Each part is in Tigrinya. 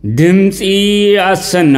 ድምፂ ኣሰና።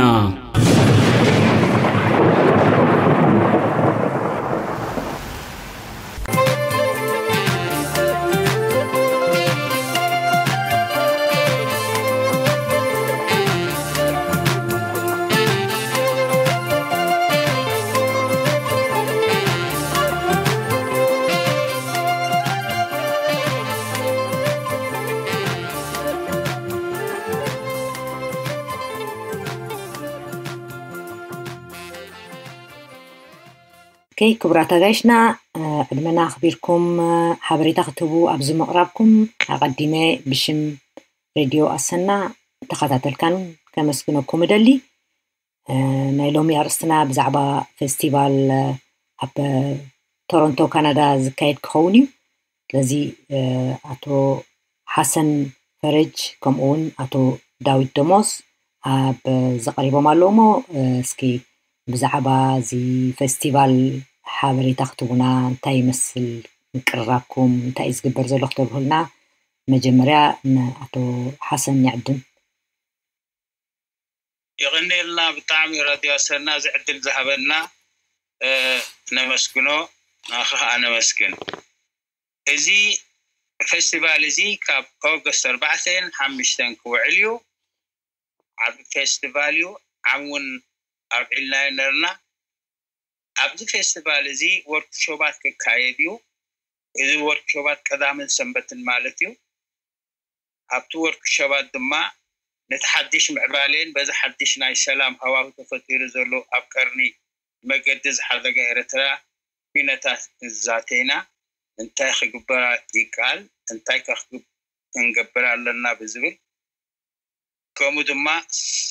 ኦኬ፣ ክቡራት ኣጋይሽና፣ ዕድመና ኣኽቢርኩም ሓበሬታ ክትህቡ ኣብዚ ምቕራብኩም ኣቐዲመ ብሽም ሬድዮ ኣሰና ተኸታተልካን ከመስግነኩም እደሊ። ናይ ሎሚ ኣርእስትና ብዛዕባ ፌስቲቫል ኣብ ቶሮንቶ ካናዳ ዝካየድ ክኸውን እዩ። ስለዚ ኣቶ ሓሰን ፈረጅ ከምኡ እውን ኣቶ ዳዊት ደሞስ ኣብ ዘቐሪቦም ኣለዉ እሞ፣ እስኪ ብዛዕባ እዚ ፌስቲቫል ሓበሬታ ክትቡና፣ እንታይ ይመስል ምቅርራብኩም፣ እንታይ እዩ ዝግበር ዘሎ ክተብርሁልና መጀመርያ ንኣቶ ሓሰን ይዕድም። የቐንየልና ብጣዕሚ ራድዮ ኣሰና እዚ ዕድል ዝሃበና ነመስግኖ። ንኣኻ ከዓ ነመስግን። እዚ ፌስቲቫል እዚ ካብ ኦገስት ኣርባዕተን ሓምሽተን ክውዕል እዩ። ዓብ ፌስቲቫል እዩ። ዓም እውን ኣብዒልናዮ ነርና። ኣብዚ ፌስቲቫል እዚ ወርክሾባት ክካየድ እዩ። እዚ ወርክሾባት ቀዳምን ሰንበትን ማለት እዩ። ኣብቲ ወርክሾባት ድማ ነቲ ሓድሽ ምዕባሌን በዚ ሓድሽ ናይ ሰላም ሃዋሁ ተፈጢሩ ዘሎ ኣብ ቀርኒ መገዲ ዝሓደጋ ኤርትራ ኩነታት ንዛተይና እንታይ ክግበራ ይከኣል እንታይ ከ ክንገብር ኣለና ብዝብል ከምኡ ድማ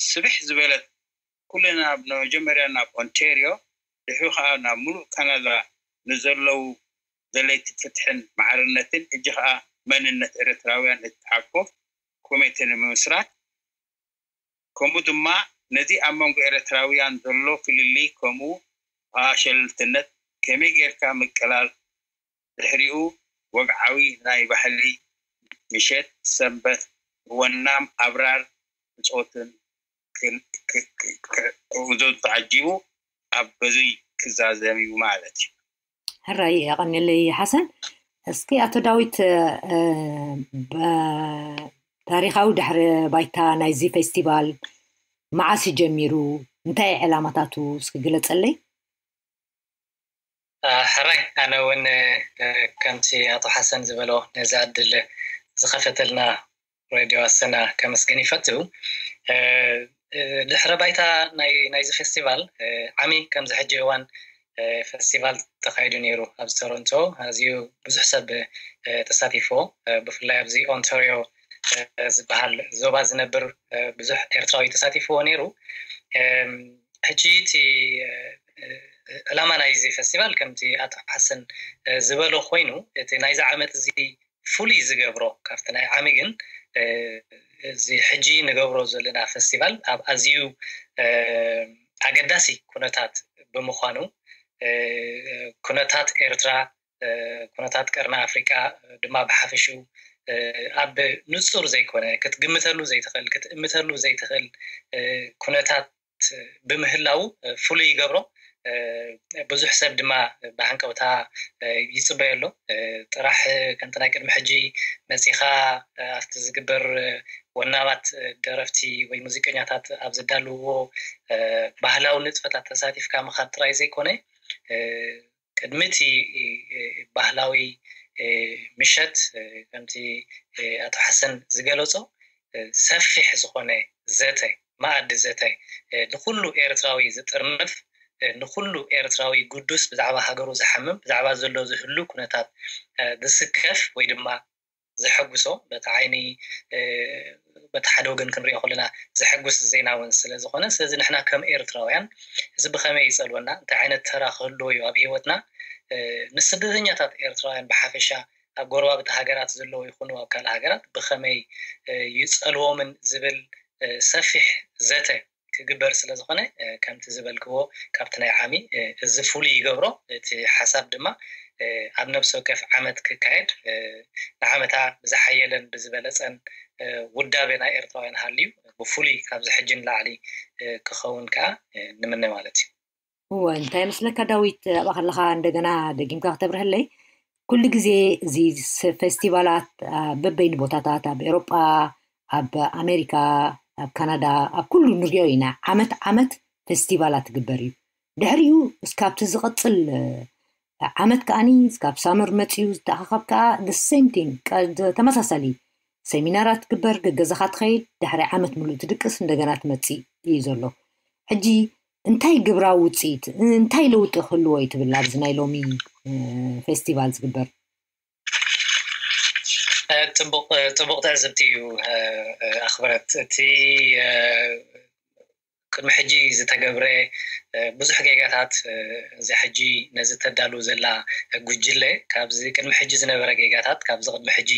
ስብሕ ዝበለት ኩልና መጀመርያ ናብ ኦንቴርዮ ድሕሪ ከዓ ናብ ሙሉእ ካናዳ ንዘለዉ ደለይቲ ፍትሕን ማዕርነትን እጂ ከዓ መንነት ኤርትራውያን እትሓቆፍ ኮሚቴ ንምምስራት ከምኡ ድማ ነዚ ኣብ መንጎ ኤርትራውያን ዘሎ ፍልልይ ከምኡ ከዓ ሸለልትነት ከመይ ጌርካ ምቅላል ድሕሪኡ ወግዓዊ ናይ ባህሊ ምሸት ሰንበት ወናም ኣብራር ብፆትን ክእዞ ተዓጂቡ ኣብ በዙይ ክዛዘም እዩ ማለት እዩ። ሕራይ የቐንየለይ ሓሰን። እስኪ ኣቶ ዳዊት፣ ታሪኻዊ ድሕሪ ባይታ ናይዚ ፌስቲቫል መዓስ እዩ ጀሚሩ? እንታይ ዕላማታቱ እስኪ ግለፀለይ። ሕራይ፣ ኣነ እውን ከምቲ ኣቶ ሓሰን ዝበሎ ነዚ ዕድል ዝኸፈተልና ሬድዮ ኣሰና ከመስግን ይፈቱ። ድሕረ ባይታ ናይዚ ፌስቲቫል ዓሚ ከምዚ ሕጂ እዋን ፌስቲቫል ተኻይዱ ነይሩ ኣብዚ ቶሮንቶ። ኣዝዩ ብዙሕ ሰብ ተሳቲፎ። ብፍላይ ኣብዚ ኦንታሪዮ ዝበሃል ዞባ ዝነብር ብዙሕ ኤርትራዊ ተሳቲፍዎ ነይሩ። ሕጂ እቲ ዕላማ ናይዚ ፌስቲቫል ከምቲ ኣቶ ሓሰን ዝበሎ ኮይኑ እቲ ናይዚ ዓመት እዚ ፍሉይ ዝገብሮ ካብቲ ናይ ዓሚ ግን እዚ ሕጂ ንገብሮ ዘለና ፌስቲቫል ኣብ ኣዝዩ ኣገዳሲ ኩነታት ብምዃኑ ኩነታት ኤርትራ ኩነታት ቀርኒ ኣፍሪቃ ድማ ብሓፈሽኡ ኣብ ንጹር ዘይኮነ ክትግምተሉ ዘይትኽእል ክትእምተሉ ዘይትኽእል ኩነታት ብምህላው ፍሉይ ይገብሮ። ብዙሕ ሰብ ድማ ብሃንቀውታ ይፅበዮ ኣሎ። ጥራሕ ከምቲ ናይ ቅድሚ ሕጂ መፂኻ ኣብቲ ዝግበር ወናማት ደረፍቲ ወይ ሙዚቀኛታት ኣብ ዘዳልውዎ ባህላዊ ንጥፈታት ተሳቲፍካ ምኻድ ጥራይ ዘይኮነ ቅድሚ እቲ ባህላዊ ምሸት ከምቲ ኣቶ ሓሰን ዝገለፆ ሰፊሕ ዝኾነ ዘተ መኣዲ ዘተ ንኩሉ ኤርትራዊ ዝጥርንፍ ንኩሉ ኤርትራዊ ጉዱስ ብዛዕባ ሃገሩ ዝሓምም ብዛዕባ ዘሎ ዝህሉ ኩነታት ዝስከፍ ወይ ድማ ዘሐጉሶ በቲ ዓይኒ በቲ ሓደ ወገን ክንሪኦ ከለና ዘሐጉስ ዜና እውን ስለ ዝኾነ ስለዚ ንሕና ከም ኤርትራውያን እዚ ብኸመይ ይጸልወና እንታይ ዓይነት ተራ ክህልዎ እዩ ኣብ ህይወትና ንስደተኛታት ኤርትራውያን ብሓፈሻ ኣብ ጎረባብቲ ሃገራት ዘለዉ ይኹኑ ኣብ ካልእ ሃገራት ብኸመይ ይጸልዎምን ዝብል ሰፊሕ ዘተ ክግበር ስለ ዝኾነ ከምቲ ዝበልክዎ ካብቲ ናይ ዓሚ እዚ ፍሉይ ይገብሮ እቲ ሓሳብ ድማ ኣብ ነብሲ ወከፍ ዓመት ክካየድ ንዓመታ ብዝሓየለን ብዝበለፀን ውዳቤ ናይ ኤርትራውያን ሃልዩ ብፍሉይ ካብዚ ሕጂ ንላዕሊ ክኸውን ከዓ ንምነ ማለት እዩ። እወ፣ እንታይ መስለካ ዳዊት፣ ኣብኣ ከለኻ እንደገና ደጊምካ ክተብርህለይ፣ ኩሉ ግዜ እዚ ፌስቲቫላት በበይኑ ቦታታት ኣብ ኤሮጳ፣ ኣብ ኣሜሪካ፣ ኣብ ካናዳ፣ ኣብ ኩሉ ንሪኦ ኢና። ዓመት ዓመት ፌስቲቫላት ትግበር እዩ። ድሕሪኡ እስካብቲ ዝቐፅል ዓመት ከዓኒ እስካብ ሳመር መፅዩ ዝተኣኻኸብ ከዓ the same thing፣ ተመሳሳሊ ሰሚናራት ትግበር፣ ገገዛኻ ትኸይድ፣ ድሕሪ ዓመት ምሉእ ትድቅስ፣ እንደገና ትመፅእ እዩ ዘሎ። ሕጂ እንታይ ግብራዊ ውፅኢት፣ እንታይ ለውጢ ክህልዎ እዩ ትብል ኣብዚ ናይ ሎሚ ፌስቲቫል ዝግበር? ፅቡቕ ትዕዝብቲ እዩ ኣኽብረት። እቲ ቅድሚ ሕጂ ዝተገብረ ብዙሕ ጌጋታት፣ እዚ ሕጂ ነዚ ተዳሉ ዘላ ጉጅለ ካብዚ ቅድሚ ሕጂ ዝነበረ ጌጋታት፣ ካብዚ ቅድሚ ሕጂ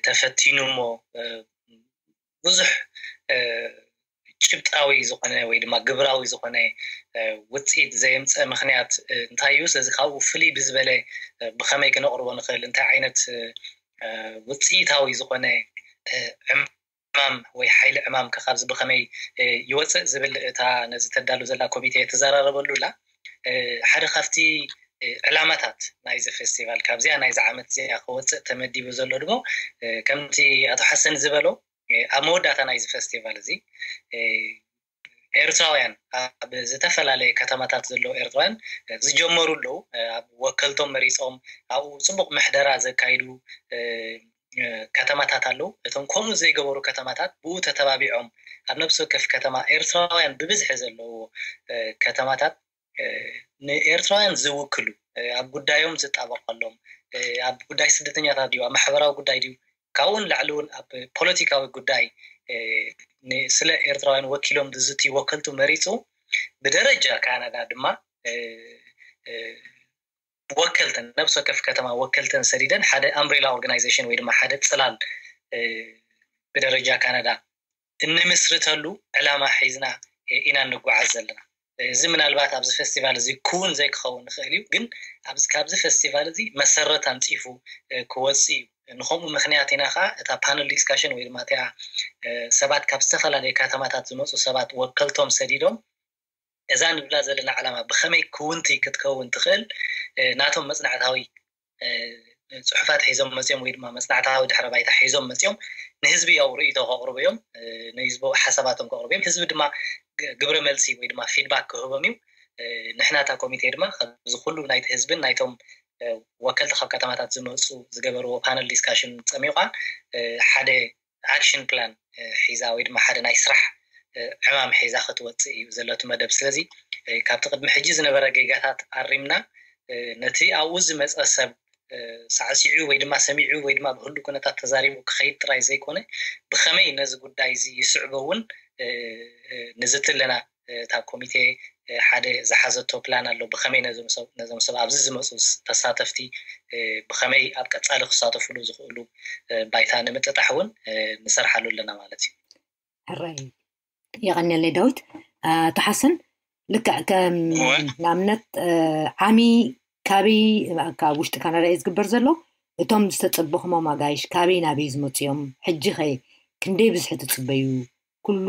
ተፈቲኑ እሞ ብዙሕ ጭብጣዊ ዝኾነ ወይ ድማ ግብራዊ ዝኾነ ውፅኢት ዘየምፀ ምክንያት እንታይ እዩ? ስለዚ ካብኡ ፍልይ ብዝበለ ብኸመይ ክነቕርቦ ንኽእል፣ እንታይ ዓይነት ውፅኢታዊ ዝኾነ ዕማም ወይ ሓይሊ ዕማም ከ ካብዚ ብኸመይ ይወፅእ ዝብል እታ ነዚ ተዳሉ ዘላ ኮሚቴ ትዘራረበሉ ኣላ። ሓደ ካብቲ ዕላማታት ናይዚ ፌስቲቫል ካብዚኣ ናይዚ ዓመት እዚኣ ክወፅእ ተመዲቡ ዘሎ ድማ ከምቲ ኣቶ ሓሰን ዝበሎ ኣብ መወዳእታ ናይዚ ፌስቲቫል እዚ ኤርትራውያን ኣብ ዝተፈላለየ ከተማታት ዘለዉ ኤርትራውያን ዝጀመሩ ኣለዉ። ኣብ ወከልቶም መሪፆም ኣብኡ ፅቡቕ ምሕደራ ዘካይዱ ከተማታት ኣለዉ። እቶም ከምኡ ዘይገበሩ ከተማታት ብኡ ተተባቢዖም ኣብ ነብሲ ወከፍ ከተማ ኤርትራውያን ብብዝሒ ዘለዎ ከተማታት ንኤርትራውያን ዝውክሉ ኣብ ጉዳዮም ዝጣበቐሎም ኣብ ጉዳይ ስደተኛታት ድዩ ኣብ ማሕበራዊ ጉዳይ ድዩ ካብኡን ላዕሊ እውን ኣብ ፖለቲካዊ ጉዳይ ስለ ኤርትራውያን ወኪሎም ዝዝትዩ ወከልቱ መሪፁ ብደረጃ ካናዳ ድማ ወከልተን ነብሲ ወከፍ ከተማ ወከልተን ሰዲደን ሓደ ኣምብሬላ ኦርጋናይዜሽን ወይ ድማ ሓደ ፅላል ብደረጃ ካናዳ እንምስርተሉ ዕላማ ሒዝና ኢና እንጓዓዝ ዘለና። እዚ ምናልባት ኣብዚ ፌስቲቫል እዚ ክውን ዘይክኸውን ይኽእል እዩ፣ ግን ካብዚ ፌስቲቫል እዚ መሰረት ኣንፂፉ ክወፅእ እዩ። ንከምኡ ምክንያት ኢና ከዓ እታ ፓነል ዲስካሽን ወይ ድማ እቲኣ ሰባት ካብ ዝተፈላለየ ከተማታት ዝመፁ ሰባት ወከልቶም ሰዲዶም እዛ ንብላ ዘለና ዕላማ ብኸመይ ክውንቲ ክትከውን ትኽእል ናቶም መፅናዕታዊ ፅሑፋት ሒዞም መፅኦም ወይ ድማ መፅናዕታዊ ድሕረ ባይታ ሒዞም መፅኦም ንህዝቢ ያው ርእይቶ ከቕርቡ እዮም፣ ንህዝቢ ሓሳባቶም ከቕርቡ እዮም። ህዝቢ ድማ ግብረ መልሲ ወይ ድማ ፊድባክ ክህቦም እዩ። ንሕና እታ ኮሚቴ ድማ ካብዚ ኩሉ ናይቲ ህዝብን ናይቶም ወከልቲ ካብ ከተማታት ዝመፁ ዝገበርዎ ፓነል ዲስካሽን ፀሚቑ ሓደ ኣክሽን ፕላን ሒዛ ወይ ድማ ሓደ ናይ ስራሕ ዕማም ሒዛ ክትወፅእ እዩ ዘለቲ መደብ። ስለዚ ካብቲ ቅድሚ ሕጂ ዝነበረ ጌጋታት ኣሪምና ነቲ ኣብኡ ዝመፀ ሰብ ሳዕሲዑ ወይ ድማ ሰሚዑ ወይ ድማ ብህሉ ኩነታት ተዛሪቡ ክኸይድ ጥራይ ዘይኮነ ብኸመይ ነዚ ጉዳይ እዚ ይስዕቦ እውን ንዝትለና እታ ኮሚቴ ሓደ ዝሓዘቶ ፕላን ኣሎ። ብኸመይ ነዞም ሰብ ኣብዚ ዝመፁ ተሳተፍቲ ብኸመይ ኣብ ቀፃሊ ክሳተፍሉ ዝኽእሉ ባይታ ንምጥጣሕ እውን ንሰርሓሉ ኣለና ማለት እዩ። ሕራይ የቐንየለይ ዳዊት። ተሓስን ልክዕ ከም ንኣብነት ዓሚ ካበይ ካብ ውሽጢ ካናዳ እዩ ዝግበር ዘሎ? እቶም ዝተፀበኹሞም ኣጋይሽ ካበይ ናበይ ዝመፁ እዮም? ሕጂ ኸ ክንደይ ብዝሒ ትፅበዩ? ኩሉ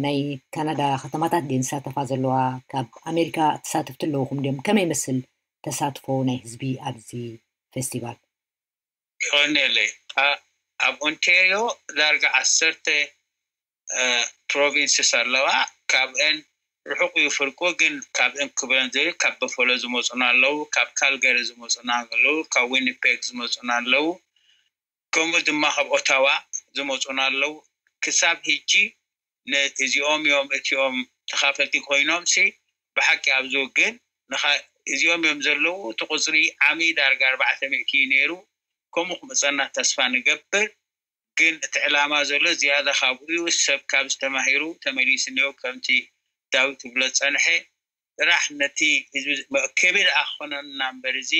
ናይ ካናዳ ከተማታት ድየን ዝሳተፋ ዘለዋ? ካብ ኣሜሪካ ተሳተፍቲ ኣለውኹም ድዮም? ከመይ ይመስል ተሳትፎ ናይ ህዝቢ ኣብዚ ፌስቲቫል? ይቐንየለይ። ኣብ ኦንቴርዮ ዳርጋ ዓሰርተ ፕሮቪንስስ ኣለዋ። ካብአን ርሑቕ እዩ ፍርቁ፣ ግን ካብአን ክብረን ዝብል ካብ በፈሎ ዝመፁና ኣለዉ፣ ካብ ካልገሪ ዝመፁና ኣለዉ፣ ካብ ዊኒፔግ ዝመፁና ኣለዉ፣ ከምኡ ድማ ካብ ኦታዋ ዝመፁና ኣለዉ። ክሳብ ሕጂ እዚኦም እዮም እቲኦም ተኻፈልቲ ኮይኖም ሲ ብሓቂ ኣብዚ ግን እዚኦም እዮም ዘለዉ። እቲ ቁፅሪ ዓሚ ዳርጋ ኣርባዕተ ሚእቲ እዩ ነይሩ። ከምኡ ክመፀና ተስፋ ንገብር። ግን እቲ ዕላማ ዘሎ ዝያዳ ካብኡ እዩ። ሰብ ካብ ዝተማሂሩ ተመሊሱ እኒኦ ከምቲ ዳዊት ትብሎ ዝፀንሐ ጥራሕ ነቲ ህዝቢ መእከቢ ደኣ ክኾነና እምበር እዚ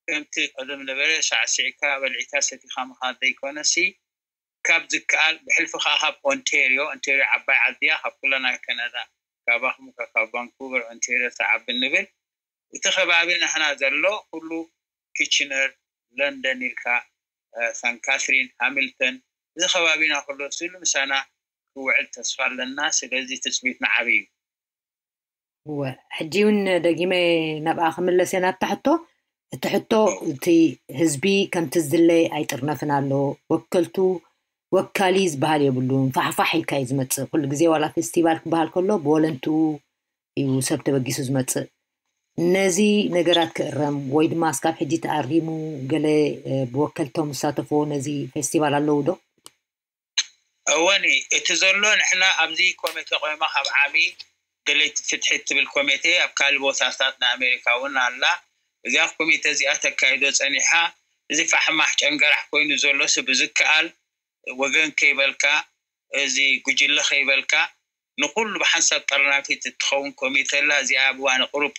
ከምቲ ቀደም ነበረ ሳዕሲዕካ በልዒካ ሰቲኻ ምኻድ ዘይኮነሲ ካብ ዝከኣል ብሕልፊ ከዓ ካብ ኦንቴርዮ ኦንቴርዮ ዓባይ ዓዲ እያ ካብ ኩለና ካናዳ ካባኹም ካብ ቫንኩቨር ኦንቴርዮ ተዓቢ ንብል እቲ ከባቢ ናህና ዘሎ ኩሉ ኪችነር ለንደን ኢልካ ሳን ካትሪን ሃሚልተን እዚ ከባቢና ኩሎ ስሉ ምሳና ክውዕል ተስፋ ኣለና። ስለዚ ትፅቢትና ዓብይ እዩ። እወ፣ ሕጂ እውን ደጊመ ናብኣ ክምለስ እየ ናብታ ሕቶ። እቲ ሕቶ፣ እቲ ህዝቢ ከምቲ ዝድለ ኣይጥርነፍን ኣሎ። ወከልቱ፣ ወካሊ ዝበሃል የብሉን። ፋሕፋሕ ኢልካ እዩ ዝመፅእ። ኩሉ ግዜ ዋላ ፌስቲቫል ክበሃል ከሎ ብወለንትኡ እዩ ሰብ ተበጊሱ ዝመፅእ። ነዚ ነገራት ክእረም ወይ ድማ እስካብ ሕጂ ተኣሪሙ ገለ ብወከልቶም ዝሳተፍዎ ነዚ ፌስቲቫል ኣለዉ ዶ? እወኒ፣ እቲ ዘሎ ንሕና ኣብዚ ኮሚቴ ቆይማ ካብ ዓሚ ደለይቲ ፍትሒ እትብል ኮሚቴ ኣብ ካልእ ቦታታት ናይ ኣሜሪካ እውን ኣላ። እዚኣ ኮሚቴ እዚኣ ተካይዶ ፀኒሓ። እዚ ፋሕማሕ ጨንገራሕ ኮይኑ ዘሎ ሲ ብዝከኣል ወገን ከይበልካ፣ እዚ ጉጅለ ከይበልካ፣ ንኩሉ ብሓንሳብ ጠርናፊት እትኸውን ኮሚቴ ኣላ። እዚኣ ኣብ እዋን ቁሩብ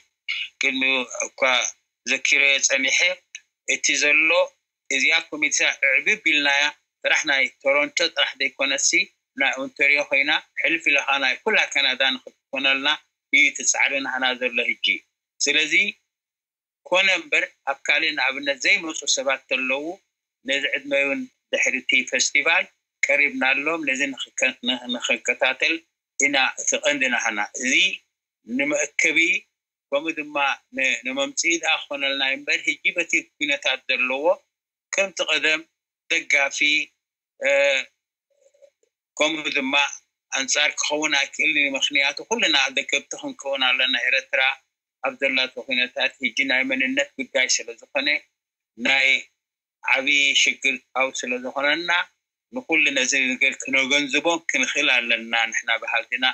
ቅድሚ እኳ ዘኪረዮ ፀኒሐ። እቲ ዘሎ እዚኣ ኮሚቴ ዕብብ ኢልናያ። ጥራሕ ናይ ቶሮንቶ ጥራሕ ዘይኮነሲ፣ ናይ ኦንቶሪዮ ኮይና፣ ሕልፍ ኢለኻ ናይ ኩላ ካናዳ ንክትኮነልና እዩ እቲ ፃዕሪ ናህና ዘሎ ህጂ። ስለዚ ኮነ እምበር ኣብ ካልእ ንኣብነት ዘይመፁ ሰባት ተለዉ፣ ነዚ ዕድመ እውን ድሕሪ እቲ ፌስቲቫል ቀሪብናሎም፣ ነዚ ንክከ- ንክንከታተል ኢና እቲ ቀንዲ ናህና። እዚ ንመእከቢ ከምኡ ድማ ን- ንመምፅኢ ደኣ ክኾነልና እዩ እምበር፣ ህጂ በቲ ኩነታት ዘለዎ ከምቲ ቀደም ደጋፊ ከምኡ ድማ ኣንጻር ክኸውን ኣይክእልን እዩ። ምኽንያቱ ኩልና ደገፍቲ ክንከውን ኣለና። ኤረትራ ኣብ ዘላቶ ኩነታት ህጂ ናይ መንነት ጉዳይ ስለ ዝኾነ ናይ ዓቢ ሽግር ጣው ስለ ዝኾነና ንኩሉ ነዚ ነገር ክነገንዝቦ ክንኽእል ኣለና። ንሕና በሃልትና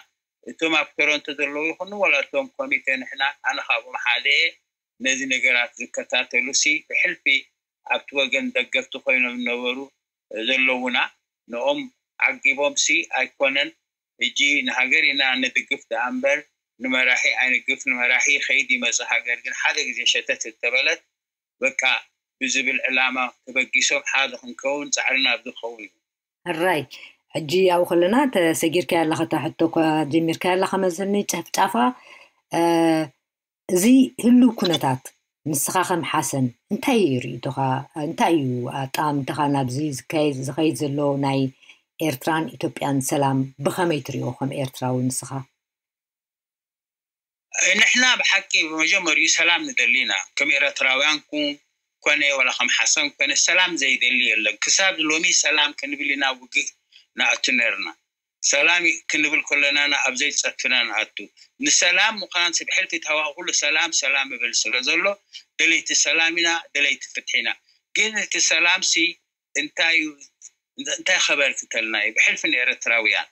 እቶም ኣብ ቶሮንቶ ዘለዉ ይኹኑ ወላ እቶም ኮሚቴ ንሕና ኣነ ካብኦም ሓደ እየ። ነዚ ነገራት ዝከታተሉ ሲ ብሕልፊ ኣብቲ ወገን ደገፍቲ ኮይኖም ዝነበሩ ዘለዉና ንኦም ዓጊቦም ሲ ኣይኮነን። ሕጂ ንሃገር ኢና ንድግፍ ደኣ እምበር ንመራሒ ኣይንግፍ። ንመራሒ ይኸይድ ይመጽእ፣ ሃገር ግን ሓደ ግዜ ሸተት እተበለት በቃ ብዝብል ዕላማ ተበጊሶም ሓደ ክንከውን ጻዕርና ኣብ ዝኸውን እዩ። ሕራይ፣ ሕጂ ኣብኡ ከለና ተሰጊርካያ ኣለኻ፣ እታ ሕቶ እኳ ጀሚርካያ ኣለኻ መዘኒ ጨፍጫፋ። እዚ ህሉው ኩነታት ንስኻ ከም ሓሰን እንታይ እዩ ርእይቶኻ? እንታይ እዩ ኣጠማምታኻ ናብዚ ዝካየድ ዝኸይድ ዘሎ ናይ ኤርትራን ኢትዮጵያን ሰላም ብኸመይ ትሪኦ ከም ኤርትራዊ ንስኻ? ንሕና ብሓቂ ብመጀመሪኡ ሰላም ንደሊ ኢና። ከም ኤረትራውያን ኩ- ኮነ ወላ ከም ሓሰን ኮነ ሰላም ዘይደሊ የለን። ክሳብ ሎሚ ሰላም ክንብል ኢና ውግእ ንኣቱ ነርና። ሰላም ክንብል ከለና ኣብ ዘይጸትፍና ንኣቱ። ንሰላም ምዃን ሲ ብሕልፊ ተሃዋኹ ኩሉ ሰላም ሰላም ይብል ስለ ዘሎ ደለይቲ ሰላም ኢና፣ ደለይቲ ፍትሒ ኢና። ግን እቲ ሰላም ሲ እንታይ እንታይ ከበርክተልና እዩ? ብሕልፊ ንኤረትራውያን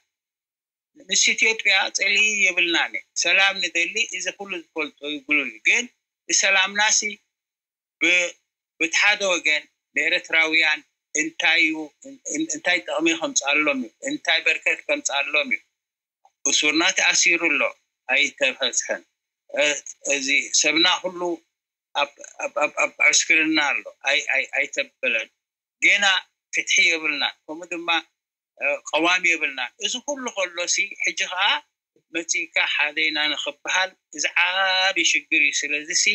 ምስ ኢትዮጵያ ጽልኢ የብልናን። ሰላም ንደሊ፣ እዚ ኩሉ ዝፈልጦ እዩ፣ ግሉል እዩ። ግን ሰላምናሲ ብ- ብቲ ሓደ ወገን ንኤረትራውያን እንታይ እዩ እንታይ ጠቕሚ ከምጻሎም እዩ እንታይ በርከት ከምጻሎም እዩ። እሱርና ተኣሲሩ ኣሎ፣ ኣይተፈትሐን። እዚ ሰብና ኩሉ ኣብ ዕስክርና ኣሎ፣ ኣይተበለን። ጌና ፍትሒ የብልና። ከምኡ ድማ ቀዋሚ የብልና። እዚ ኩሉ ከሎ ሲ ሕጂ ከዓ መፂእካ ሓደ ኢና ንክበሃል እዚ ዓብዪ ሽግር እዩ። ስለዚ ሲ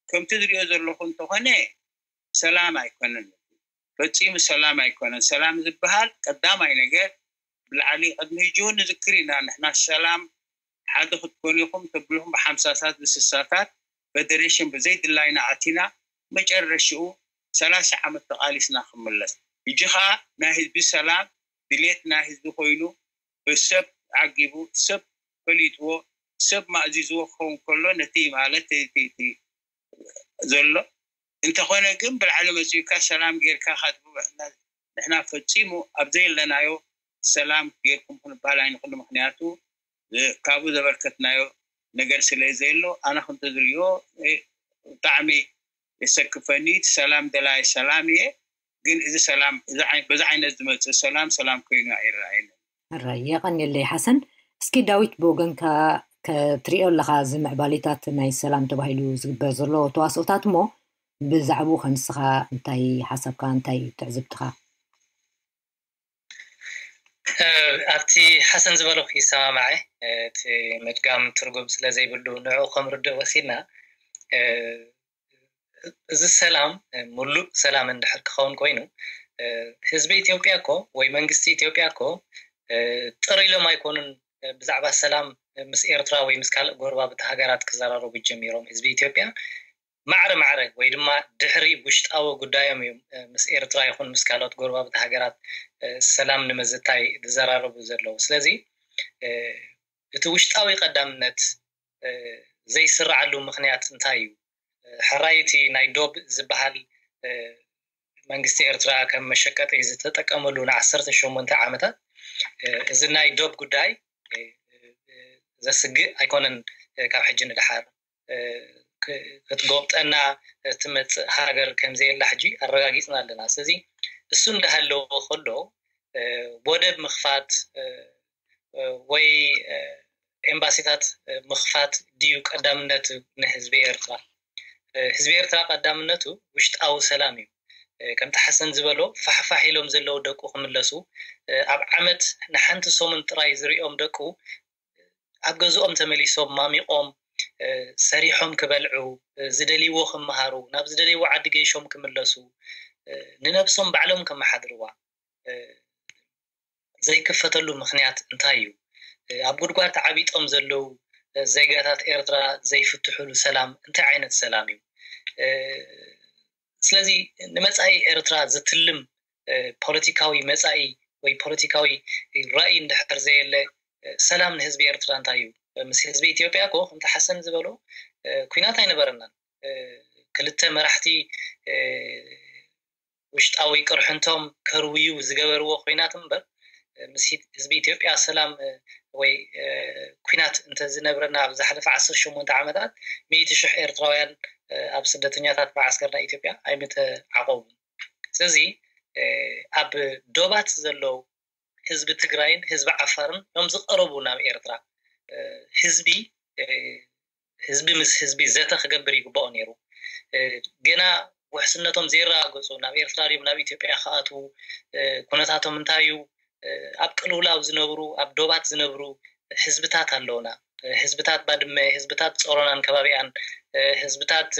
ከምቲ ዝሪኦ ዘለኹ እንተኾነ ሰላም ኣይኮነን፣ ፈፂሙ ሰላም ኣይኮነን። ሰላም ዝበሃል ቀዳማይ ነገር ብላዕሊ ቅድሚ ሕጂ እውን ንዝክር ኢና ንሕና ሰላም ሓደ ክትኮኑ ኢኹም ተብልኹም ብሓምሳታት ብስሳታት ፈደሬሽን ብዘይ ድላይና ኣቲና መጨረሽኡ ሰላሳ ዓመት ተቓሊስና ክምለስ። ሕጂ ከዓ ናይ ህዝቢ ሰላም ድሌት ናይ ህዝቢ ኮይኑ ብሰብ ዓጊቡ ሰብ ፈሊጥዎ ሰብ ማእዚዝዎ ክኸውን ከሎ ነቲ ማለት እቲ ዘሎ እንተኾነ ግን ብላዕሊ መፂኡካ ሰላም ጌርካ ካትብበ ንሕና ፈፂሙ ኣብ ዘየለናዮ ሰላም ጌርኩም ክንበሃል ኣይንኽእሉ። ምክንያቱ ካብኡ ዘበርከትናዮ ነገር ስለ ዘየሎ ኣነ ከምቲ ዝሪኦ ብጣዕሚ የሰክፈኒ። እቲ ሰላም ደላይ ሰላም እየ፣ ግን እዚ ሰላም በዚ ዓይነት ዝመፅእ ሰላም ሰላም ኮይኑ ኣይረኣየንን። ሕራይ የቐንየለይ ሓሰን። እስኪ ዳዊት ብወገንካ ከትሪኦ ኣለኻ እዚ ምዕባሌታት ናይ ሰላም ተባሂሉ ዝግበር ዘሎ ተዋስኦታት እሞ ብዛዕባኡ ከ ንስኻ እንታይ ሓሳብካ እንታይ ትዕዝብትኻ? ኣብቲ ሓሰን ዝበሎ ይሰማማዐ። እቲ ምድጋም ትርጉም ስለ ዘይብሉ ንዕኡ ከም ርድእ ወሲድና እዚ ሰላም ሙሉእ ሰላም እንድሕር ክኸውን ኮይኑ ህዝቢ ኢትዮጵያ እኮ ወይ መንግስቲ ኢትዮጵያ እኮ ጥር ኢሎም ኣይኮኑን ብዛዕባ ሰላም ምስ ኤርትራ ወይ ምስ ካልእ ጎረባብቲ ሃገራት ክዘራረቡ ጀሚሮም። ህዝቢ ኢትዮጵያ ማዕረ ማዕረ ወይ ድማ ድሕሪ ውሽጣዊ ጉዳዮም እዮም ምስ ኤርትራ ይኹን ምስ ካልኦት ጎረባብቲ ሃገራት ሰላም ንምዝታይ ዝዘራረቡ ዘለዉ። ስለዚ እቲ ውሽጣዊ ቀዳምነት ዘይስርዓሉ ምኽንያት እንታይ እዩ? ሕራይ እቲ ናይ ዶብ ዝበሃል መንግስቲ ኤርትራ ከም መሸቀጢ ዝተጠቀመሉ ንዓሰርተ ሸሞንተ ዓመታት፣ እዚ ናይ ዶብ ጉዳይ ዘስግእ ኣይኮነን። ካብ ሕጂ ንደሓር ክትጎብጠና ትመፅእ ሃገር ከምዘየላ ሕጂ ኣረጋጊፅና ኣለና። ስለዚ እሱ እንዳሃለወ ከሎ ወደብ ምኽፋት ወይ ኤምባሲታት ምኽፋት ድዩ ቀዳምነቱ ንህዝቢ ኤርትራ? ህዝቢ ኤርትራ ቀዳምነቱ ውሽጣዊ ሰላም እዩ። ከምቲ ሓሰን ዝበሎ ፋሕፋሕ ኢሎም ዘለዉ ደቁ ክምለሱ፣ ኣብ ዓመት ንሓንቲ ሰሙን ጥራይ ዝሪኦም ደቁ ኣብ ገዝኦም ተመሊሶም ማሚቖም ሰሪሖም ክበልዑ፣ ዝደልይዎ ክመሃሩ፣ ናብ ዝደልይዎ ዓዲ ገይሾም ክምለሱ፣ ንነብሶም ባዕሎም ከመሓድርዋ ዘይክፈተሉ ምኽንያት እንታይ እዩ? ኣብ ጉድጓድ ተዓቢጦም ዘለዉ ዜጋታት ኤርትራ ዘይፍትሕሉ ሰላም እንታይ ዓይነት ሰላም እዩ? ስለዚ ንመጻኢ ኤርትራ ዝትልም ፖለቲካዊ መጻኢ ወይ ፖለቲካዊ ራእይ እንድሕር ዘየለ ሰላም ንህዝቢ ኤርትራ እንታይ እዩ? ምስ ህዝቢ ኢትዮጵያ እኮ ከምቲ ሓሰን ዝበሎ ኩናት ኣይነበረናን። ክልተ መራሕቲ ውሽጣዊ ቅርሕንቶም ከርውዩ ዝገበርዎ ኩናት እምበር ምስ ህዝቢ ኢትዮጵያ ሰላም ወይ ኩናት እንተዝነብረና ኣብ ዝሓለፈ ዓሰርተ ሸሞንተ ዓመታት ሚእቲ ሽሕ ኤርትራውያን ኣብ ስደተኛታት መዓስከር ናይ ኢትዮጵያ ኣይምተዓቆቡን። ስለዚ ኣብ ዶባት ዘለዉ ህዝቢ ትግራይን ህዝቢ ዓፋርን እዮም ዝቐረቡ ናብ ኤርትራ። ህዝቢ ህዝቢ ምስ ህዝቢ ዘተ ክገብር ይግባኦ ነይሩ። ገና ውሕስነቶም ዘየረጋገፁ ናብ ኤርትራ ድዮም ናብ ኢትዮጵያ ክኣትዉ፣ ኩነታቶም እንታይ እዩ፣ ኣብ ቅልውላው ዝነብሩ ኣብ ዶባት ዝነብሩ ህዝብታት ኣለውና። ህዝብታት ባድመ፣ ህዝብታት ጾሮናን ከባቢኣን፣ ህዝብታት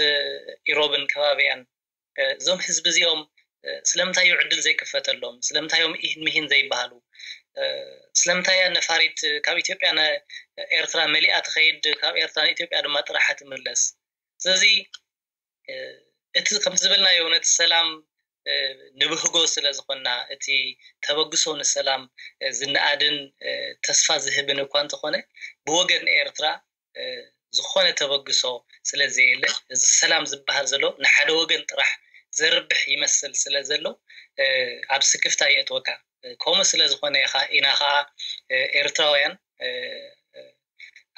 ኢሮብን ከባቢኣን፣ እዞም ህዝቢ እዚኦም ስለምንታይ እዩ ዕድል ዘይክፈተሎም? ስለምንታይ እዮም ኢህን ምሂን ዘይበሃሉ? ስለምንታይ እያ ነፋሪት ካብ ኢትዮጵያ ንኤርትራ መሊኣ ትኸይድ፣ ካብ ኤርትራ ንኢትዮጵያ ድማ ጥራሓ ትምለስ? ስለዚ እቲ ከምቲ ዝበልናዮ ነቲ ሰላም ንብህጎ ስለ ዝኾንና፣ እቲ ተበግሶ ንሰላም ዝነኣድን ተስፋ ዝህብን እኳ እንተኾነ፣ ብወገን ኤርትራ ዝኾነ ተበግሶ ስለ ዘየለ፣ እዚ ሰላም ዝበሃል ዘሎ ንሓደ ወገን ጥራሕ ዘርብሕ ይመስል ስለ ዘሎ፣ ኣብ ስክፍታ የእትወካ። ከምኡ ስለ ዝኾነ ኢኻ ኢና ኸዓ ኤርትራውያን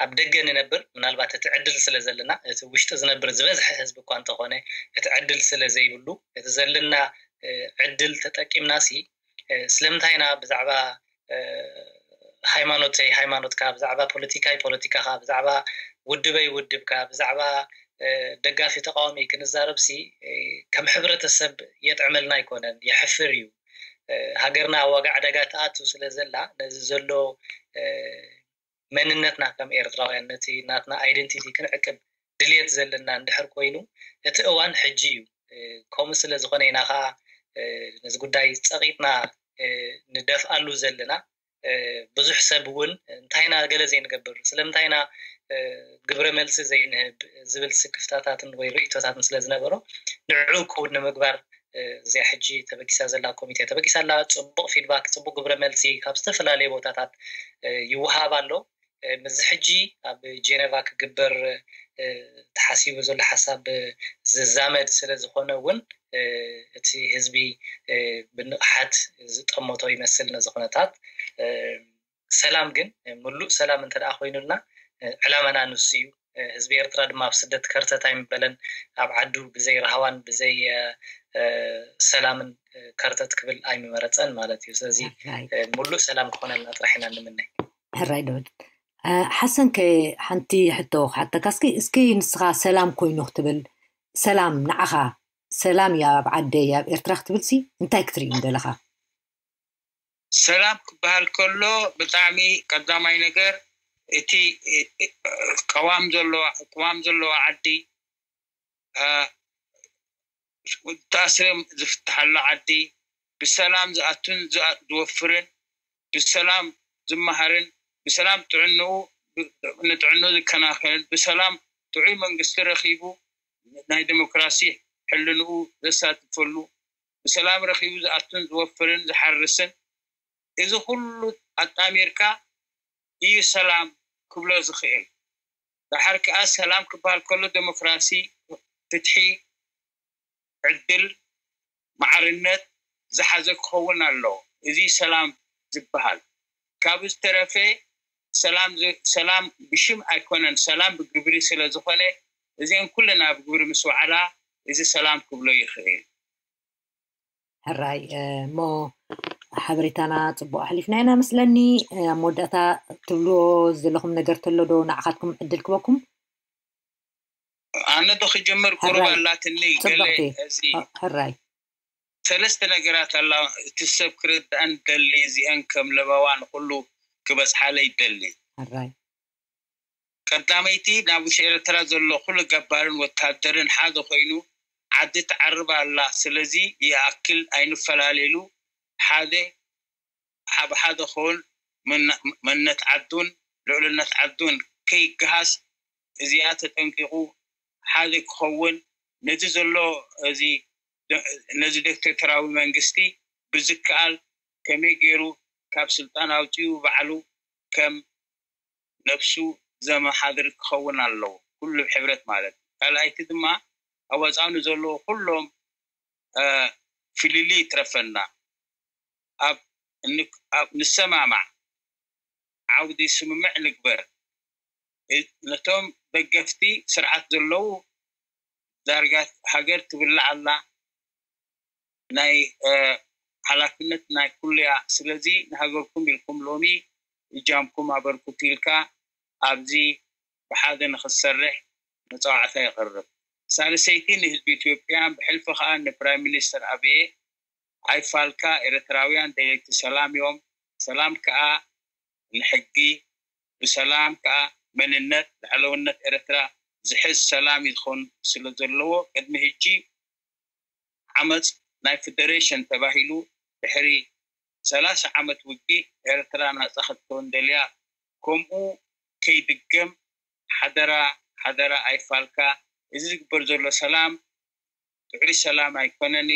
ኣብ ደገ ንነብር፣ ምናልባት እቲ ዕድል ስለ ዘለና፣ እቲ ውሽጢ ዝነብር ዝበዝሐ ህዝቢ እኳ እንተኾነ፣ እቲ ዕድል ስለ ዘይብሉ፣ እቲ ዘለና ዕድል ተጠቂምናሲ ስለምንታይ ኢና ብዛዕባ ሃይማኖተይ ሃይማኖትካ፣ ብዛዕባ ፖለቲካይ ፖለቲካኻ፣ ብዛዕባ ውድበይ ውድብካ፣ ብዛዕባ ደጋፊ ተቃዋሚ ክንዛረብሲ ከም ሕብረተሰብ የጥዕመልና ኣይኮነን፣ የሕፍር እዩ። ሃገርና ኣብ ዋጋ ዕዳጋ ትኣቱ ስለ ዘላ፣ ነዚ ዘሎ መንነትና ከም ኤርትራውያን፣ ነቲ ናትና ኣይደንቲቲ ክንዕቅብ ድልየት ዘለና እንድሕር ኮይኑ፣ እቲ እዋን ሕጂ እዩ። ከምኡ ስለ ዝኾነ ኢና ከዓ ነዚ ጉዳይ ጸቒጥና ንደፍኣሉ ዘለና። ብዙሕ ሰብ እውን እንታይ ኢና ገለ ዘይንገብር፣ ስለምንታይ ኢና ግብረ መልሲ ዘይንህብ ዝብል ስክፍታታትን ወይ ርእይቶታትን ስለ ዝነበሮ፣ ንዕኡ ክውን ንምግባር እዚኣ ሕጂ ተበጊሳ ዘላ ኮሚቴ ተበጊሳ ኣላ። ጽቡቕ ፊድባክ፣ ጽቡቕ ግብረ መልሲ ካብ ዝተፈላለዩ ቦታታት ይወሃብ ኣሎ። ምስዚ ሕጂ ኣብ ጄኔቫ ክግበር ተሓሲቡ ዘሎ ሓሳብ ዝዛመድ ስለ ዝኾነ እውን፣ እቲ ህዝቢ ብንቕሓት ዝጠመቶ ይመስል ነዚ ኩነታት። ሰላም ግን ምሉእ ሰላም እንተ ደኣ ኮይኑልና፣ ዕላማና ንሱ እዩ። ህዝቢ ኤርትራ ድማ ኣብ ስደት ከርተት ኣይምበለን። ኣብ ዓዱ ብዘይ ራህዋን ብዘይ ሰላምን ከርተት ክብል ኣይምመረጸን ማለት እዩ። ስለዚ ምሉእ ሰላም ክኾነልና ጥራሕ ኢና ንምነ። ሕራይ ዳዊት። ሓሰን ከ ሓንቲ ሕቶ ክሓተካ እስኪ፣ እስኪ ንስኻ ሰላም ኮይኑ ክትብል፣ ሰላም ንዓኻ ሰላም እያ ኣብ ዓደይ ኣብ ኤርትራ ክትብልሲ እንታይ ክትርኢ ምደለኻ? ሰላም ክበሃል ከሎ ብጣዕሚ ቀዳማይ ነገር እቲ ቅዋም ዘለዋ ቅዋም ዘለዋ ዓዲ፣ ታስርም ዝፍትሓሉ ዓዲ፣ ብሰላም ዝኣቱን ዝወፍርን፣ ብሰላም ዝመሃርን፣ ብሰላም ጥዕንኡ ንጥዕንኡ ዝከናኸንን፣ ብሰላም ጥዑይ መንግስቲ ረኺቡ ናይ ዴሞክራሲ ሕልንኡ ዘሳትፈሉ፣ ብሰላም ረኺቡ ዝኣቱን ዝወፍርን ዝሓርስን፣ እዚ ኩሉ ኣጣሚርካ እዩ ሰላም ክብሎ ዝኽእል። ደሓር ከኣ ሰላም ክበሃል ከሎ ዴሞክራሲ፣ ፍትሒ፣ ዕድል፣ ማዕርነት ዝሓዘ ክኸውን ኣለዎ። እዚ ሰላም ዝበሃል። ካብ ዝተረፈ ሰላም ዝ- ሰላም ብሽም ኣይኮነን፣ ሰላም ብግብሪ ስለ ዝኾነ እዚአን ኩለን ኣብ ግብሪ ምስ ወዓላ እዚ ሰላም ክብሎ ይኽእል። ሕራይ እሞ ሓበሬታና ፅቡቅ ኣሕሊፍና ኢና መስለኒ። ኣብ መወዳእታ ትብልዎ ዘለኹም ነገር ተሎ ዶ ንዓኻትኩም ዕድል ክበኩም? ኣነ ዶ ክጀምር? ቁሩብ ኣላትኒ ገለ። እዚ ሕራይ ሰለስተ ነገራት ኣላ። እቲ ሰብ ክርዳእን ደሊ እዚአን ከም ለበዋ ንኩሉ ክበፅሓለ ይደሊ። ሕራይ ቀዳመይቲ ናብ ውሽጢ ኤርትራ ዘሎ ኩሉ ገባርን ወታደርን ሓደ ኮይኑ ዓዲ ትዓርብ ኣላ። ስለዚ ይኣክል ኣይንፈላለሉ፣ ሓደ ኣብ ሓደ ክውን፣ መንነት ዓዱን ልዕልነት ዓዱን ከይገሃስ እዚኣ ተጠንቂቑ ሓደ ክኸውን፣ ነዚ ዘሎ እዚ ነዚ ዲክቴተራዊ መንግስቲ ብዝከኣል ከመይ ገይሩ ካብ ስልጣን ኣውፂኡ ባዕሉ ከም ነብሱ ዘመሓድር ክኸውን ኣለዎ፣ ኩሉ ብሕብረት ማለት እዩ። ካልኣይቲ ድማ ኣብ ወፃኢ ንዘለዉ ኩሎም ፍልልይ ይትረፈና፣ ኣብ ንሰማማዕ፣ ዓውዲ ስምምዕ ንግበር። ነቶም ደገፍቲ ስርዓት ዘለዉ ዳርጋ ሃገር ትብላዕ ኣላ፣ ናይ ሓላፍነት ናይ ኩሉ እያ። ስለዚ ንሃገርኩም ኢልኩም ሎሚ እጃምኩም ኣበርክቱ ኢልካ ኣብዚ ብሓደ ንክትሰርሕ መፃዋዕታ የቕርብ። ሳልሰይቲ ንህዝቢ ኢትዮጵያ ብሕልፊ ከዓ ንፕራይም ሚኒስተር ኣብየ ኣይፋልካ ኤርትራውያን ደለይቲ ሰላም እዮም። ሰላም ከዓ ንሕጊ፣ ብሰላም ከዓ መንነት ልዕለውነት ኤርትራ ዝሕዝ ሰላም ይኾን ስለ ዘለዎ ቅድሚ ሕጂ ዓመፅ ናይ ፌደሬሽን ተባሂሉ ድሕሪ ሰላሳ ዓመት ውግእ ኤርትራ ናፃ ክትከውን ደልያ ከምኡ ከይድገም ሓደራ ሓደራ ኣይፋልካ። እዚ ዝግበር ዘሎ ሰላም ጥዑይ ሰላም ኣይኮነን።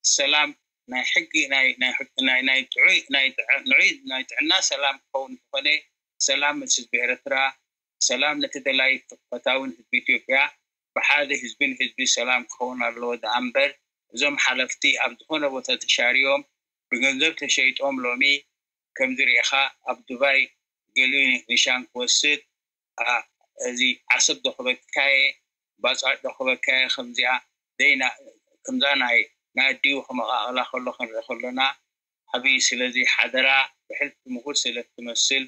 ሰላም ናይ ሕጊ ናይ ናይ ጥዑይ ናይ ጥዕና ሰላም ክኸውን እንተኾነ ሰላም ምስ ህዝቢ ኤርትራ፣ ሰላም ነቲ ደላይ ፈታውን ህዝቢ ኢትዮጵያ፣ ብሓደ ህዝቢ ንህዝቢ ሰላም ክኸውን ኣለዎ ደኣ እምበር እዞም ሓለፍቲ ኣብ ዝኾነ ቦታ ተሻርዮም ብገንዘብ ተሸይጦም ሎሚ ከምዚ ርኢኻ ኣብ ዱባይ ገሊኡ ኒሻን ክወስድ እዚ ዓሰብ ዶ ክበካየ ባፅዕ ዶ ክበካየ ከምዚኣ ደይና ከምዛ ናይ ናይ ኣዲኡ ከመቃቅላ ከሎ ክንርኢ ከሎና ዓብዪ። ስለዚ ሓደራ ብሕልፊ ምሁር ስለ ትመስል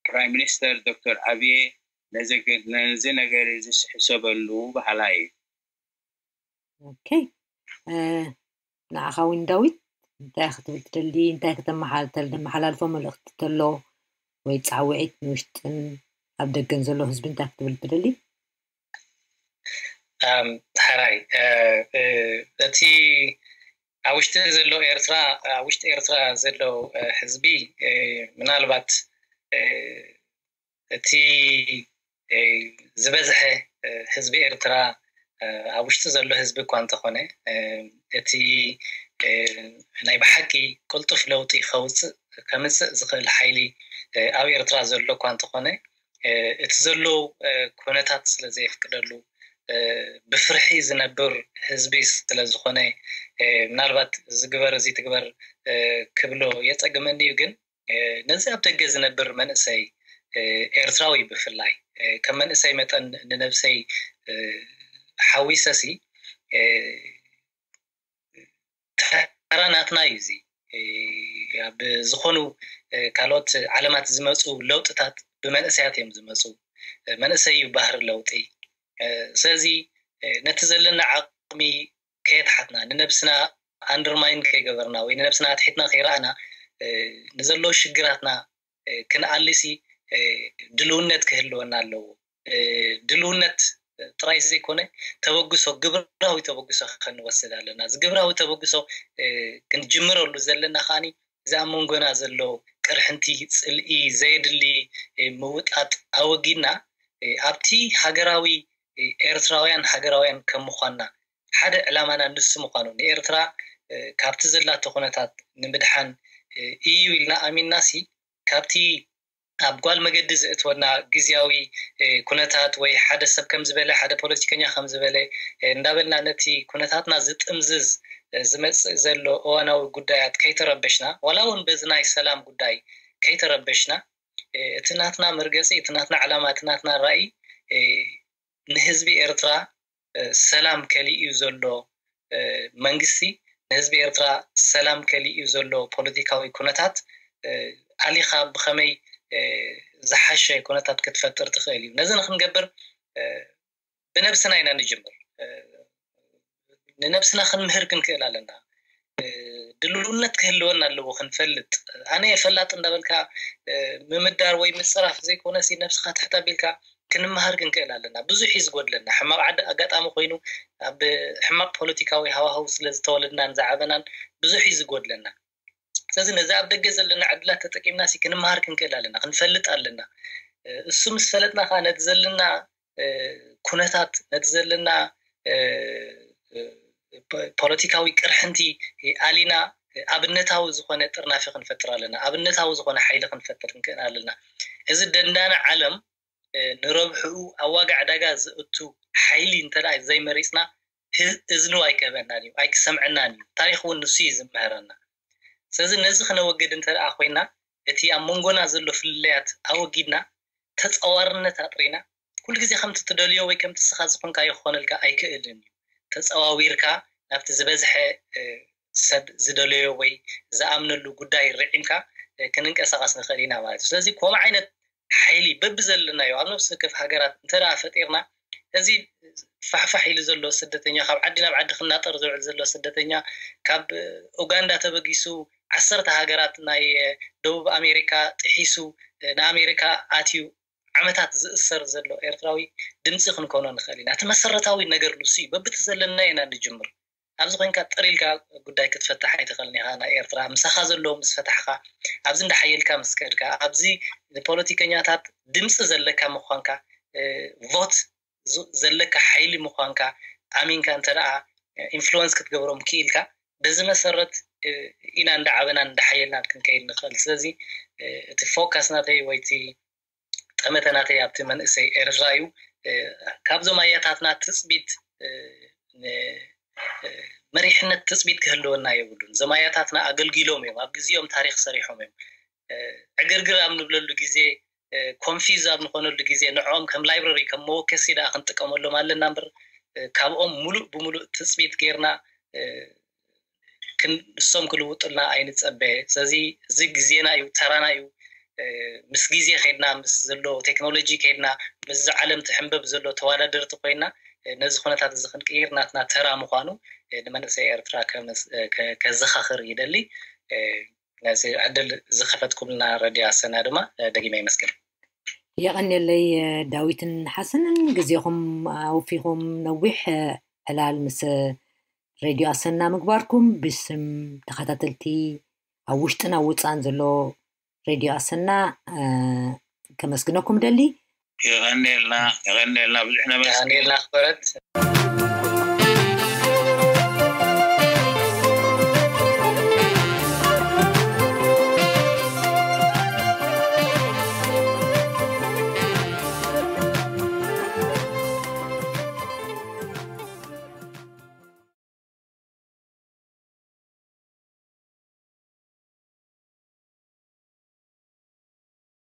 ፕራይም ሚኒስተር ዶክተር ኣብየ ነዚ ነገር እዚ ሕሰበሉ በሃላይ እዩ። ኦኬ ንዓኻ እውን ዳዊት እንታይ ክትብል ትደሊ? እንታይ ከተመሓላልፎ መልእኽቲ ተሎ ወይ ፃውዒት ንውሽጥን ኣብ ደገን ዘሎ ህዝቢ እንታይ ክትብል ትደሊ? ሕራይ እቲ ኣብ ውሽጢ ዘሎ ኤርትራ ኣብ ውሽጢ ኤርትራ ዘሎ ህዝቢ ምናልባት እቲ ዝበዝሐ ህዝቢ ኤርትራ ኣብ ውሽጢ ዘሎ ህዝቢ እኳ እንተኾነ እቲ ናይ ብሓቂ ቅልጡፍ ለውጢ ከውፅእ ከምፅእ ዝኽእል ሓይሊ ኣብ ኤርትራ ዘሎ እኳ እንተኾነ እቲ ዘሎ ኩነታት ስለ ዘየፍቅደሉ ብፍርሒ ዝነብር ህዝቢ ስለ ዝኾነ ምናልባት ዝግበር እዚ ትግበር ክብሎ የፀግመኒ እዩ። ግን ነዚ ኣብ ደገ ዝነብር መንእሰይ ኤርትራዊ ብፍላይ ከም መንእሰይ መጠን ንነብሰይ ሓዊሰሲ ተራ ናትና እዩ። እዚ ኣብ ዝኾኑ ካልኦት ዓለማት ዝመፁ ለውጥታት ብመንእሰያት እዮም ዝመፁ። መንእሰይ እዩ ባህሪ ለውጢ። ስለዚ ነቲ ዘለና ዓቕሚ ከየትሓትና ንነብስና ኣንደርማይን ከይገበርና ወይ ንነብስና ኣትሒትና ከይረኣና ንዘለዉ ሽግራትና ክንኣልሲ ድልውነት ክህልወና ኣለዎ። ድልውነት ጥራይ ዘይኮነ፣ ተበግሶ፣ ግብራዊ ተበግሶ ክንወስድ ኣለና። እዚ ግብራዊ ተበግሶ ክንጅምረሉ ዘለና ከዓኒ እዚ ኣብ መንጎና ዘሎ ቅርሕንቲ፣ ፅልኢ፣ ዘየድሊ ምውጣጥ ኣወጊድና፣ ኣብቲ ሃገራዊ፣ ኤርትራውያን ሃገራውያን ከም ምዃንና ሓደ ዕላማና ንሱ ምዃኑ፣ ንኤርትራ ካብቲ ዘላቶ ኩነታት ንምድሓን እዩ ኢልና ኣሚንና ሲ፣ ካብቲ ኣብ ጓል መገዲ ዘእትወና ግዝያዊ ኩነታት ወይ ሓደ ሰብ ከም ዝበለ፣ ሓደ ፖለቲከኛ ከም ዝበለ እንዳበልና ነቲ ኩነታትና ዝጥምዝዝ ዝመጽእ ዘሎ እዋናዊ ጉዳያት ከይተረበሽና፣ ዋላ እውን በዚ ናይ ሰላም ጉዳይ ከይተረበሽና፣ እቲ ናትና መርገጺ፣ እቲ ናትና ዕላማ፣ እቲ ናትና ራእይ ንህዝቢ ኤርትራ ሰላም ከሊኡ ዘሎ መንግስቲ፣ ንህዝቢ ኤርትራ ሰላም ከሊኡ ዘሎ ፖለቲካዊ ኩነታት ኣሊኻ ብኸመይ ዝሓሸ ኩነታት ክትፈጥር ትኽእል እዩ? ነዚ ንክንገብር ብነብስና ኢና ንጅምር። ንነብስና ክንምህር ክንክእል ኣለና። ድልውነት ክህልወና ኣለዎ ክንፈልጥ። ኣነ ፈላጥ እንዳበልካ ምምዳር ወይ ምፅራፍ ዘይኮነ ሲ፣ ነብስኻ ትሕት ኣቢልካ ክንመሃር ክንክእል ኣለና። ብዙሕ እዩ ዝጎድለና። ሕማቕ ዓዲ ኣጋጣሚ ኮይኑ ኣብ ሕማቕ ፖለቲካዊ ሃዋህው ስለ ዝተወለድናን ዝዓበናን ብዙሕ እዩ ዝጎድለና። ስለዚ ነዚ ኣብ ደገ ዘለና ዕድላት ተጠቂምና ሲ ክንመሃር ክንክእል ኣለና፣ ክንፈልጥ ኣለና። እሱ ምስ ፈለጥና ከዓ ነቲ ዘለና ኩነታት፣ ነቲ ዘለና ፖለቲካዊ ቅርሕንቲ ኣሊና ኣብነታዊ ዝኾነ ጥርናፊ ክንፈጥር ኣለና። ኣብነታዊ ዝኾነ ሓይሊ ክንፈጥር ክንክእል ኣለና። እዚ ደንዳነ ዓለም ንረብሕኡ ኣብ ዋጋ ዕዳጋ ዘእቱ ሓይሊ እንተ ዘይመሪፅና፣ እዝኑ ኣይክህበናን እዩ፣ ኣይክሰምዐናን እዩ። ታሪክ እውን ንሱ እዩ ዝምህረና። ስለዚ ነዚ ክነወግድ እንተ ኮይና፣ እቲ ኣብ መንጎና ዘሎ ፍልልያት ኣወጊድና፣ ተፃዋርነት ኣጥሪና፣ ኩሉ ግዜ ከምቲ ትደልዮ ወይ ከምቲ ስኻ ዝኾንካዮ ክኾነልካ ኣይክእልን እዩ። ተፀዋዊርካ ናብቲ ዝበዝሐ ሰብ ዝደለዮ ወይ ዝኣምነሉ ጉዳይ ርዒምካ ክንንቀሳቐስ ንኽእል ኢና ማለት እዩ። ስለዚ ከምኡ ዓይነት ሓይሊ በብዘለናዮ ኣብ ነፍሲ ወከፍ ሃገራት እንተ ደኣ ፈጢርና፣ እዚ ፋሕፋሕ ኢሉ ዘሎ ስደተኛ፣ ካብ ዓዲ ናብ ዓዲ ክናጠር ዝውዕል ዘሎ ስደተኛ፣ ካብ ኡጋንዳ ተበጊሱ ዓሰርተ ሃገራት ናይ ደቡብ ኣሜሪካ ጥሒሱ ንኣሜሪካ ኣትዩ ዓመታት ዝእሰር ዘሎ ኤርትራዊ ድምፂ ክንኮኖ ንኽእል ኢና። እቲ መሰረታዊ ነገር ንሱ እዩ። በብቲ ዘለና ኢና ንጅምር። ኣብዚ ኮይንካ ጥር ኢልካ ጉዳይ ክትፈትሕ ኣይትኽእልን ኢኻ። ናይ ኤርትራ ምሳኻ ዘለዉ ምስ ፈታሕካ፣ ኣብዚ እንዳሓየልካ ምስ ከድካ፣ ኣብዚ ንፖለቲከኛታት ድምፂ ዘለካ ምዃንካ፣ እ፣ ቮት ዝ-፣ ዘለካ ሓይሊ ምዃንካ ኣሚንካ እንተ ደኣ ኢንፍሉወንስ ክትገብሮም ክኢልካ፣ በዚ መሰረት፣ እ፣ ኢና እንዳዓበናን እንዳሓየልናን ክንከይድ ንኽእል። ስለዚ፣ እ፣ እቲ ፎካስ ናተይ ወይ እቲ ጠመተ ናተይ ኣብቲ መንእሰይ ኤርትራ እዩ። እ፣ ካብዞም ኣያታትና ትጽቢት፣ እ፣ ን-፣ እ፣ መሪሕነት ትጽቢት ክህልወና የብሉን። እዞም ኣያታትና ኣገልጊሎም እዮም፣ ኣብ ግዜኦም ታሪኽ ሰሪሖም እዮም። እ፣ ዕግርግር ኣብ ንብለሉ ግዜ፣ እ፣ ኮንፊዝ ኣብ ንኾነሉ ግዜ ንዕኦም ከም ላይብረሪ፣ ከም መወከሲ ደኣ ክንጥቀመሎም ኣለና እምበር፣ እ፣ ካብኦም ሙሉእ ብሙሉእ ትጽቢት ጌርና፣ እ፣ ክን-፣ ንሶም ክልውጡልና ኣይንጸበ። ስለዚ እዚ ግዜና እዩ፣ ተራና እዩ። እ፣ ምስ ግዜ ከይድና፣ ምስ ዘሎ ቴክኖሎጂ ከይድና፣ ምስዚ ዓለም ትሕንበብ ዘሎ ተወዳደርቲ ኮይና፣ እ፣ ነዚ ኩነታት እዚ ክንቅይር ናትና ተራ ምዃኑ፣ እ፣ ንመንእሰይ ኤርትራ ከመስ-፣ እ፣ ከ-፣ ከዘኻኽር ይደሊ። እ፣ ነዚ ዕድል ዝኸፈትኩምልና ረድዮ ኣሰና ድማ፣ እ፣ ደጊመ የመስግን። የቐንየለይ፣ እ፣ ዳዊትን ሓሰንን ግዜኹም ኣውፊኹም ነዊሕ፣ እ፣ ዕላል ምስ ሬድዮ ኣሰና ምግባርኩም ብስም ተኸታተልቲ ኣብ ውሽጥን ኣብ ውፃን ዘሎ ሬድዮ ኣሰና፣ እ፣ ከመስግነኩም ደሊ። የቐንየልና፣ የቐንየልና፣ ብዙሕ ነመስግን። የቐንየልና ክበረት።